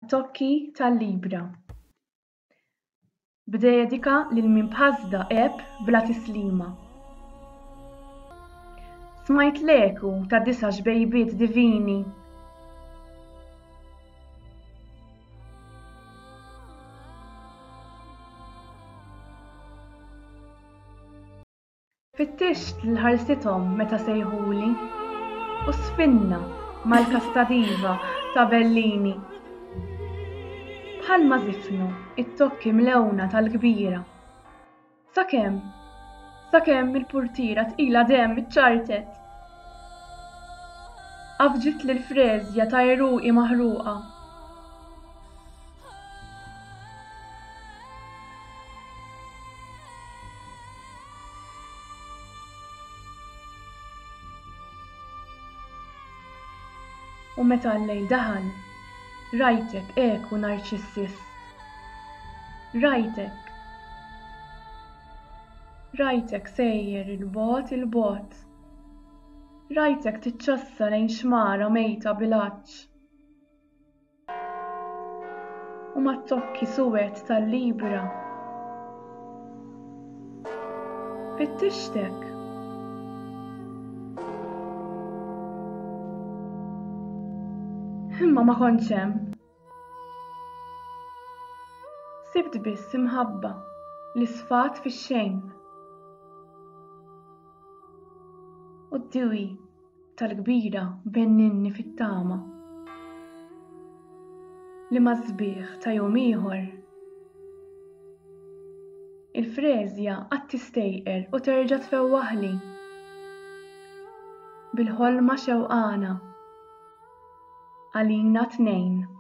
Mat-tokki tal-libra. B'dedika lil min b'ħasda għeb bla tislima. Smajt l-eku ta' disa' xbejbiet divini. Fittixt lil ħarsithom meta sejħuli u żfinna mal-kastadiva ta' Bellini. Bħalma żifnu t-tokki mlewna tal-kbira. Sakemm, sakemm il-purtiera tqila demm iċċartet. Għafġitli l-freżja ta' għeruqi maħruqa. U meta l-lejl daħal, rajtek eku narċissist. Rajtek. Rajtek sejjer 'il bogħod 'il bogħod. Rajtek tiċċassa lejn xmara mejta bil-għatx. U mat-tokki suwed tal-libra. Fittixtek. Imma ma kontx hemm. Sibt biss imħabba li sfat fix-xejn. U d-diwi tal-kbira benninni fit-tama li mas-sbieħ ta' jum ieħor il-freżja għad tistejqer u terġa' tfewwaħli bil-ħolma xewqana għalina t-tnejn.